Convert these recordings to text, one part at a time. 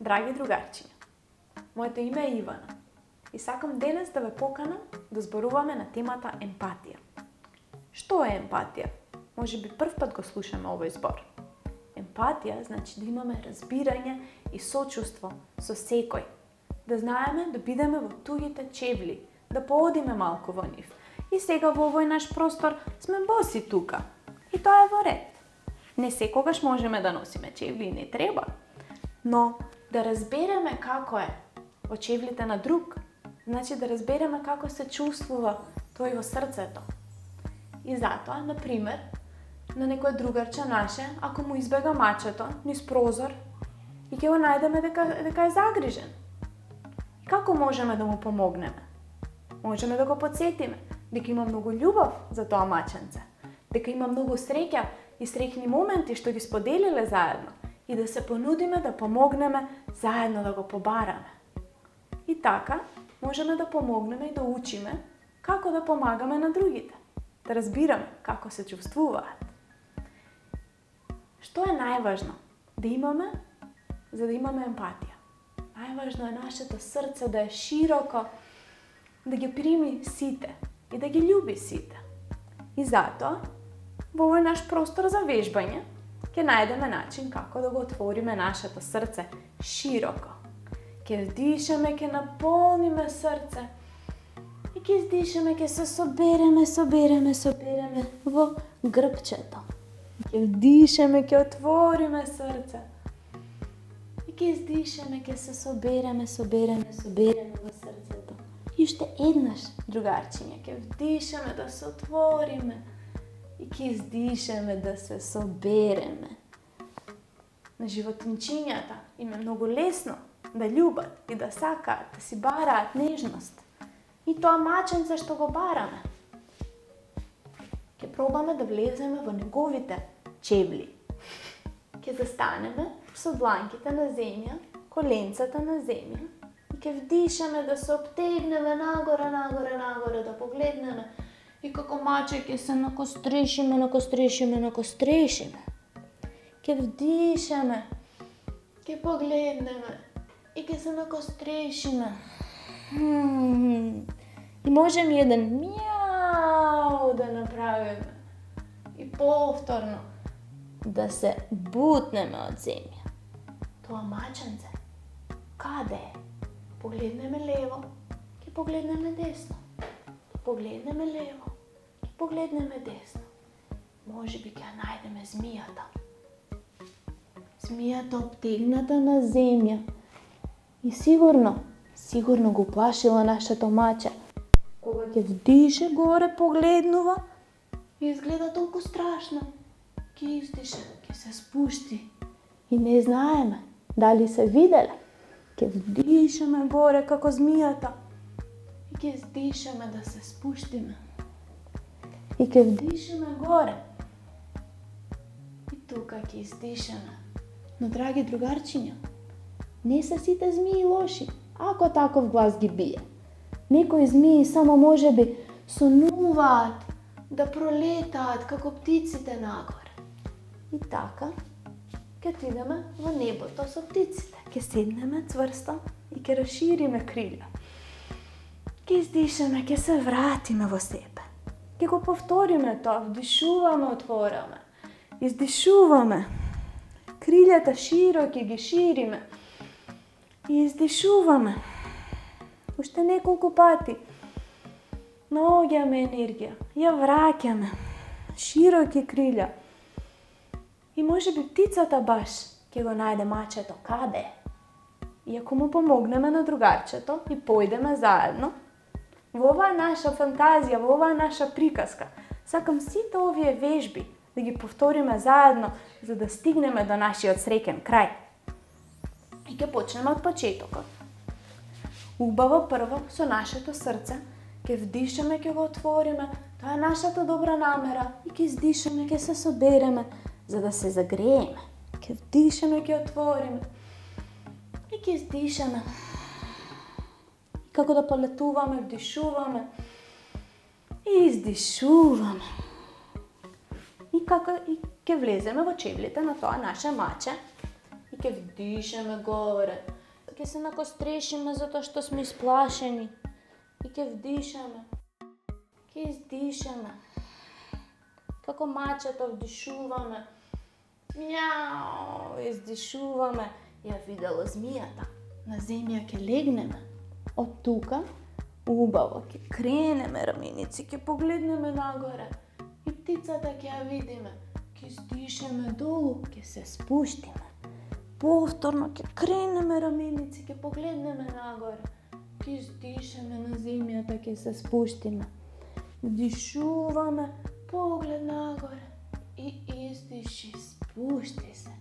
Драги другарчиња, моето име е Ивана и сакам денес да ве поканам да зборуваме на темата емпатија. Што е емпатија? Може би прв пат го слушаме овој збор. Емпатија значи да имаме разбирање и сочувство со секој. Да знаеме да бидеме во туѓите чевли, да поодиме малку во нив. И сега во овој наш простор сме боси тука. И тоа е во ред. Не секогаш можеме да носиме чевли и не треба. Но да разбереме како е во чевлите на друг, значи да разбереме како се чувствува тој во срцето. И затоа, например, на некој другарче наше, ако му избега мачето низ прозор, и ќе го најдеме дека е загрижен. И како можеме да му помогнеме? Можеме да го потсетиме дека има многу љубов за тоа маченце, дека има многу среќа и среќни моменти што ги споделиле заедно и да се понудиме да помогнеме заедно да го побараме. И така можеме да помогнеме и да учиме како да помагаме на другите, да разбираме како се чувствуваат. Што е најважно да имаме за да имаме емпатија? Најважно е нашето срце да е широко, да ги прими сите и да ги љуби сите. И затоа, во овој наш простор за вежбање, ќе најдеме начин како да го отвориме нашето срце широко. Ќе вдишаме, ќе наполниме срце и ќе издишаме, ќе се собереме во грбчето. Ќе вдишаме, ќе отвориме срце и ќе издишаме, ќе се собереме во срцето. И уште еднаш, другарчиња, ќе вдишаме да се отвориме и ќе издишаме да се собереме. На животинчињата им е многу лесно да љубат и да сакаат, да си бараат нежност. И тоа маченце што го бараме. Ќе пробаме да влеземе во неговите чевли. Ќе застанеме со дланките на земја, коленцата на земја и ќе вдишаме да се обтегнеме нагоре, да погледнеме и како маче ќе се накострешиме. Ќе вдишаме, ќе погледнеме и ќе се накострешиме. И можеме еден мјау да направиме. И повторно да се бутнеме од земја. Тоа маченце, каде е? Погледнеме лево, ќе погледнеме десно. Погледнеме лево, ќе погледнеме десно. Може би ќе најдеме змијата. Змијата обтегната на земја. И сигурно го плашила нашето маче. Кога ќе вдише горе, погледнува и изгледа толку страшно. Ќе издише, ќе се спушти. И не знаеме дали се виделе. Ќе вдишаме горе како змијата и ќе издишаме да се спуштиме. И ќе вдишаме горе. И тука ќе издишаме. Но, драги другарчиња, не се сите змии лоши, ако таков глас ги бие. Некои змии само можеби сонуваат да пролетаат како птиците нагоре. И така, ќе отидеме во небото со птиците. Ќе седнеме цврсто и ќе расшириме крилја. Ќе издишаме, ќе се вратиме во себе. Ќе го повториме тоа, вдишуваме, отвораме. Издишуваме. Крилјата широки ги шириме. И издишуваме. Уште неколку пати. Наоѓаме енергија. Ја враќаме. Широки крилја. И може би птицата баш ќе го најде мачето каде е. И ако му помогнеме на другарчето и појдеме заедно, во оваа наша фантазија, во оваа наша приказка, сакам сите овие вежби да ги повториме заедно, за да стигнеме до нашиот среќен крај. И ќе почнеме од почетокот. Убаво прво со нашето срце, ќе вдишаме, ќе го отвориме, тоа е нашата добра намера, и ќе издишаме, ќе се собереме, за да се загрееме. Ќе вдишаме, ќе отвориме и ќе издишаме. И како да полетуваме, вдишуваме и издишуваме. И ќе влеземе во чевлите на тоа наше маче и Ке вдишаме горе. Ке се накострешиме затоа што сме исплашени. И ке вдишаме. Ке издишаме. Како мачето вдишуваме. Мјау, издишуваме. Ја видела змијата. На земја ке легнеме. Од тука убаво ке кренеме раменици, ке погледнеме нагоре. И птицата ке ја видиме. Ке издишеме долу, ке се спуштиме. Повторно ке кренеме раменици, ке погледнеме нагоре. Ке издишеме на земјата, ке се спуштиме. Вдишуваме, поглед нагоре. И издиши, спушти се.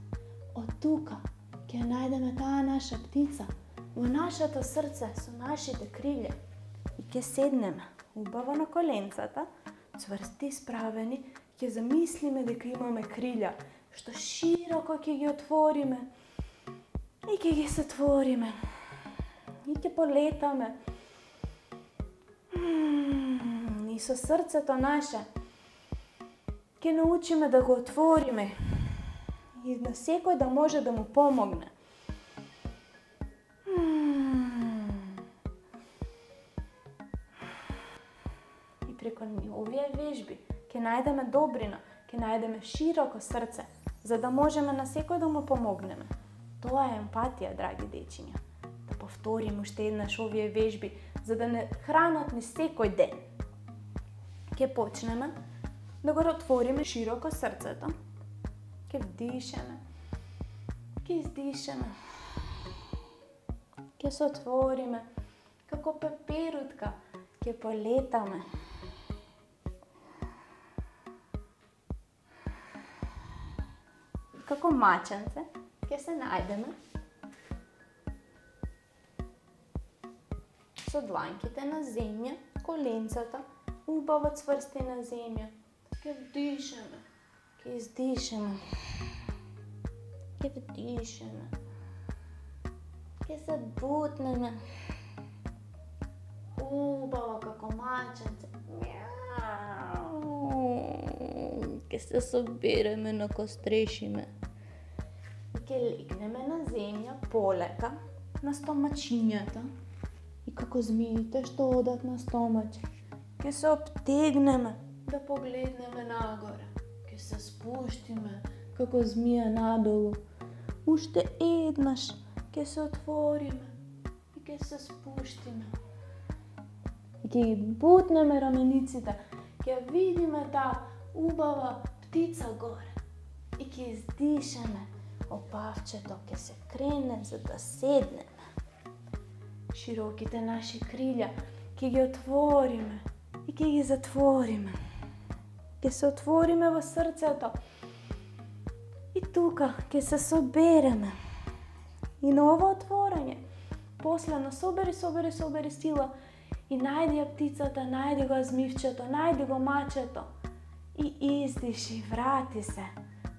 Од тука ке најдеме таа наша птица во нашето срце со нашите крилја. И ке седнеме убаво на коленцата, цврсти справени, ке замислиме дека имаме крилја, што широко ке ги отвориме и ке ги затвориме. И ке полетаме. И со срцето наше ке научиме да го отвориме и на секој да може да му помогне. И преку овие вежби ке најдеме добрина, ке најдеме широко срце, за да можеме на секој да му помогнеме. Тоа е емпатија, драги дечиња. Да повториме уште еднаш овие вежби, за да не хранат ни секој ден. Ке почнеме да го отвориме широко срцето. Ке вдишеме. Ке издишеме. Ке се отвориме. Како пеперутка. Ке полетаме. Како маченце. Ке се најдеме. Со дланките на земја, коленцата, убаво цврсти на земја. Ке вдишеме. Ке издишеме. Ке вдишеме. Ке се бутнеме. Убаво како маченце. Ке се собереме, накострешиме. Ке легнеме на земја полека на стомачињата. И како змиите што одат на стомач. Ке се обтегнеме да погледнеме нагоре. Ке се спуштиме како змија надолу. Уште еднаш ке се отвориме и ке се спуштиме. И ке ги бутнеме рамениците, ке видиме таа убава птица горе. И ке издишеме, опавчето ке се крене за да седнеме. Широките наши крилја ке ги отвориме и ке ги затвориме. Ке се отвориме во срцето. И тука ке се собереме. И на ова отворање, последно собери сила и најди ја птицата, најди го змивчето, најди го мачето и издиши, врати се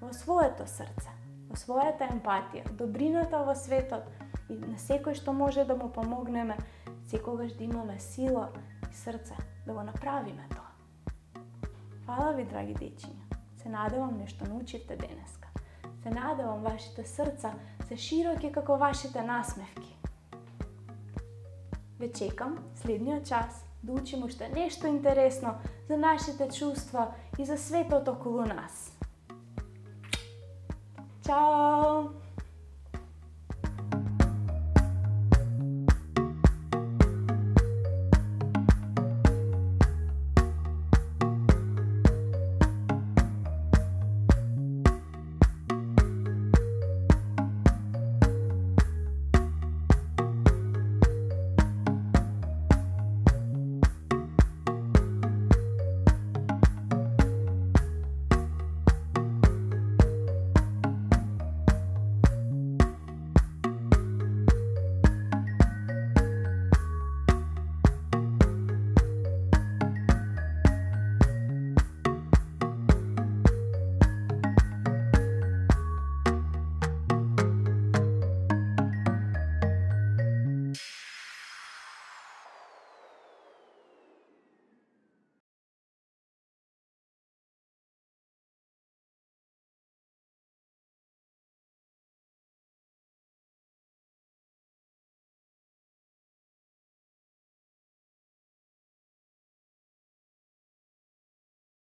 во своето срце, во својата емпатија, добрината во светот и на секој што може да му помогнеме, секогаш да имаме сила и срце да го направиме тоа. Фала ви, драги дечиња. Се надевам нешто научивте денеска. Се надевам вашите срца се широки како вашите насмевки. Ве чекам следниот час да учим уште нешто интересно за нашите чувства и за светот околу нас. Чао!